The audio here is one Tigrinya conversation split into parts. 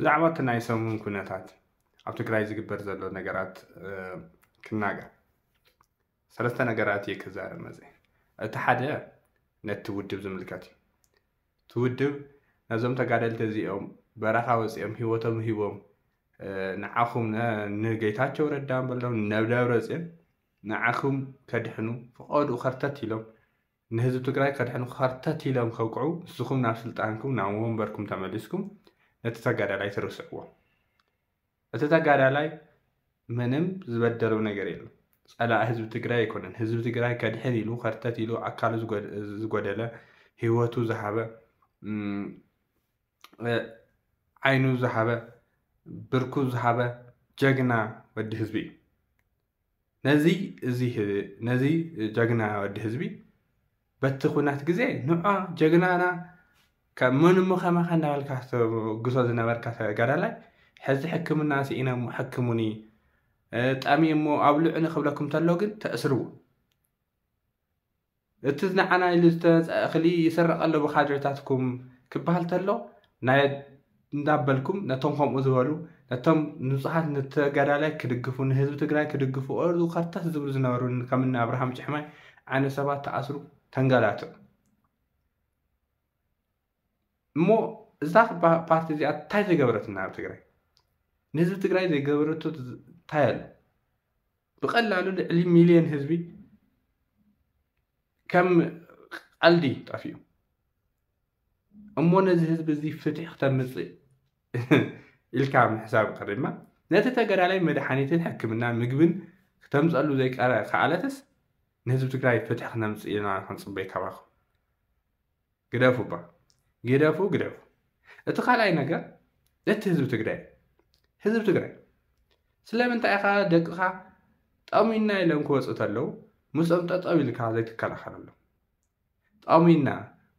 ብዛዕባ እቲ ናይ ሰሙን ኩነታት ኣብ ትግራይ ዝግበር ዘሎ ነገራት ክናገር ሰለስተ ነገራት እየ ክዛረብ መፅእ። እቲ ሓደ ነቲ ውድብ ዝምልከት እዩ። እቲ ውድብ ነዞም ተጋደልቲ እዚኦም በረኻ ወፂኦም ህይወቶም ሂቦም ንዓኹም ንጌታቸው ረዳ በሎም ነብደብረ ፅዮን ንዓኹም ከድሕኑ ፈቐድኡ ከርተት ኢሎም ንህዝቢ ትግራይ ከድሕኑ ከርተት ኢሎም ከውቅዑ ንስኹም ናብ ስልጣንኩም ናብ ወንበርኩም ተመሊስኩም ነቲ ተጋዳላይ ትርስዕዎ። እቲ ተጋዳላይ ምንም ዝበደለው ነገር የለም። ፀላእ ህዝቢ ትግራይ ኣይኮነን። ህዝቢ ትግራይ ከድሕን ኢሉ ከርተት ኢሉ ኣካሉ ዝጎደለ ህይወቱ ዝሃበ ዓይኑ ዝሃበ ብርኩ ዝሃበ ጀግና ወዲ ህዝቢ እዩ። ነዚ እዚ ነዚ ጀግና ወዲ ህዝቢ በቲ ኩናት ግዜ ንዖ ጀግናና ካብ መን እሞ ከማኻ እንዳበልካ ተግሶ ዝነበርካ ተጋዳላይ ሕዚ ሕክምና ስኢነ እሞ ሕክሙኒ ጠሚ እሞ ኣብልዑኒ ክብለኩም ተሎ ግን ተእስርዎ። እቲ ንዓና ኢሉ ዝተመፀ እኽሊ ይስረቕ ኣሎ ብካድሬታትኩም ክበሃል ተሎ ናይ እንዳበልኩም ነቶም ከምኡ ዝበሉ ነቶም ንፁሃት ንተጋዳላይ ክድግፉ ንህዝቢ ትግራይ ክድግፉ ኦርዱ ከርተት ዝብሉ ዝነበሩ ከምኒ ኣብርሃም ጭሕማይ ዓይነት ሰባት ተኣስሩ ተንገላትዑ። እሞ እዛ ፓርቲ እዚኣ እንታይ ዘይገበረትና ኣብ ትግራይ? ንህዝቢ ትግራይ ዘይገበረቱ እንታይ ኣሎ? ብቐላሉ ልዕሊ ሚልዮን ህዝቢ ከም ቀልዲ ጠፊኡ። እሞ ነዚ ህዝቢ እዚ ፍትሒ ክተምፅእ ኢልካ ምሕሳብ ቀሪብማ ነቲ ተጋዳላይ መድሓኒትን ሕክምና ምግብን ክተምፀሉ ዘይከኣለትስ ንህዝቢ ትግራይ ፍትሒ ክነምፅእ ኢና ክንፅበይ ካባኹም። ግደፉ እባ ግደፉ ግደፉ። እቲ ካልኣይ ነገር እቲ ህዝቢ ትግራይ ህዝቢ ትግራይ ስለምንታይ ኢኻ ደቅኻ ጠሚና ኢሎም ክወፁ ተለዉ ምስኦም ጠጠው ኢልካ ዘይትከላኸለሎም? ጠሚና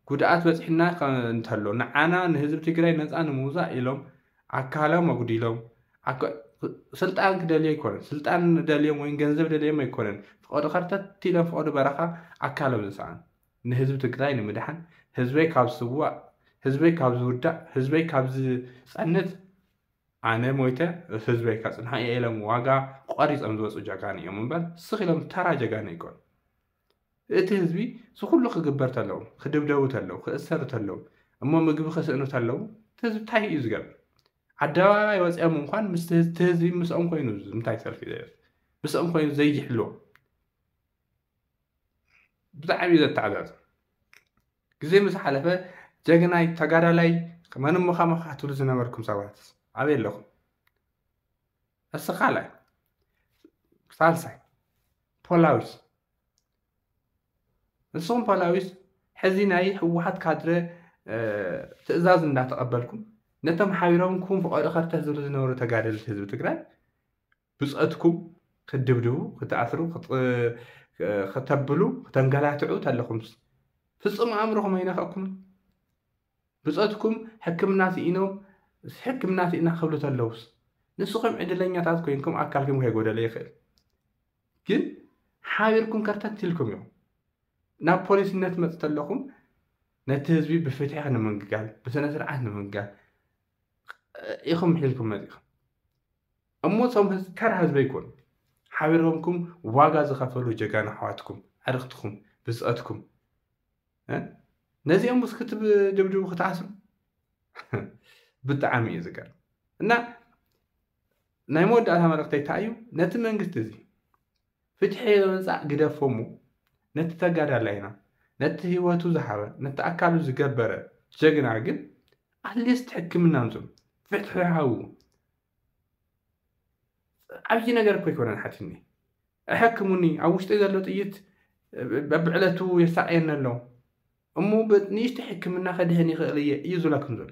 ጉድኣት በፂሕና እንተሎ ንዓና ንህዝቢ ትግራይ ነፃ ንምውፃእ ኢሎም ኣካሎም ኣጉዲሎም ስልጣን ክደልዩ ኣይኮነን ስልጣን ደልዮም ወይም ገንዘብ ደልዮም ኣይኮነን ፍቐዱ ከርተት ኢሎም ፍቐዱ በረኻ ኣካሎም ዝሰኣኑ ንህዝቢ ትግራይ ንምድሓን ህዝበይ ካብ ዝስዋእ ህዝበይ ካብ ዝውዳእ ህዝበይ ካብ ዝፀንት ኣነ ሞይተ ህዝበይ ከፅንሖ እየ ኢሎም ዋጋ ቆሪፆም ዝወፁ ጀጋኑ እዮም እምበር ስኽ ኢሎም ተራ ጀጋኑ ኣይኮኑ። እቲ ህዝቢ ዝኩሉ ክግበር ተለዉ ክድብደቡ ተለዉ ክእሰሩ ተለዉ እሞ ምግቢ ክስእኑ ተለዉ እቲ ህዝቢ እንታይ እዩ ዝገብር? ኣደባባይ ወፂኦም እንኳን ምስቲ ህዝቢ ምስኦም ኮይኑ እንታይ ሰልፊ ምስኦም ኮይኑ ዘይሕልዎም ብጣዕሚ እዩ ዘተዓዛዝብ። ግዜ ምስ ሓለፈ ጀግናይ ተጋዳላይ መን እሞ ከማኻ ትብሉ ዝነበርኩም ሰባትስ ኣበይ ኣለኹም? እሱ ካልኣይ። ሳልሳይ ፖላዊስ። ንስኹም ፖላዊስ ሕዚ ናይ ህወሓት ካድረ ትእዛዝ እንዳተቐበልኩም ነቶም ሓቢሮም ኩም ፍቐዶ ከርተት ዝብሉ ዝነበሩ ተጋደልቲ ህዝቢ ትግራይ ብፀትኩም ክትድብድቡ ክትኣስሩ ከተብሉ ክተንገላትዑ ተለኹምስ ፍፁም ኣእምሮኹም ኣይነኸእኩምን። ብፀትኩም ሕክምና ስኢኖም ሕክምና ስኢና ክብሉ ተለውስ ንስኹም ዕድለኛታት ኮይንኩም ኣካልኩም ከይጎደለ ይኽእል ግን ሓቢርኩም ከርተት ኢልኩም ኢኹም ናብ ፖሊስነት መፅ ተለኹም ነቲ ህዝቢ ብፍትሒ ንምንግጋል ብስነ ስርዓት ንምንጋል ኢኹም ሒዝኩም መፂኹም እሞ ቶም ተራ ህዝቢ ኣይኮኑ ሓቢሮምኩም ዋጋ ዝኸፈሉ ጀጋኑ ኣሕዋትኩም ኣዕርኽትኩም ብፅኦትኩም ነዚኦም ምስ ክትድብድቡ ክትኣስሩ ብጣዕሚ እዩ ዝገርም እና ናይ መወዳእታ መልእክተይ እንታይ እዩ ነቲ መንግስቲ እዚ ፍትሒ ምምፃእ ግደፎ እሞ ነቲ ተጋዳላይና ነቲ ህይወቱ ዝሃበ ነቲ ኣካሉ ዝገበረ ጀግና ግን ኣትሊስት ሕክምና ኣምፅኡ ፍትሒ ሃብዎ ዓብዪ ነገር እኮ ኣይኮነን ሓቲኒ ኣሕክሙኒ ኣብ ውሽጢ ዘሎ ጥይት በብዕለቱ የሳቀየኒ ኣሎ እሞ ንእሽተ ሕክምና ከድሕን ይኽእል እየ እዩ ዝብለኩም ዘሎ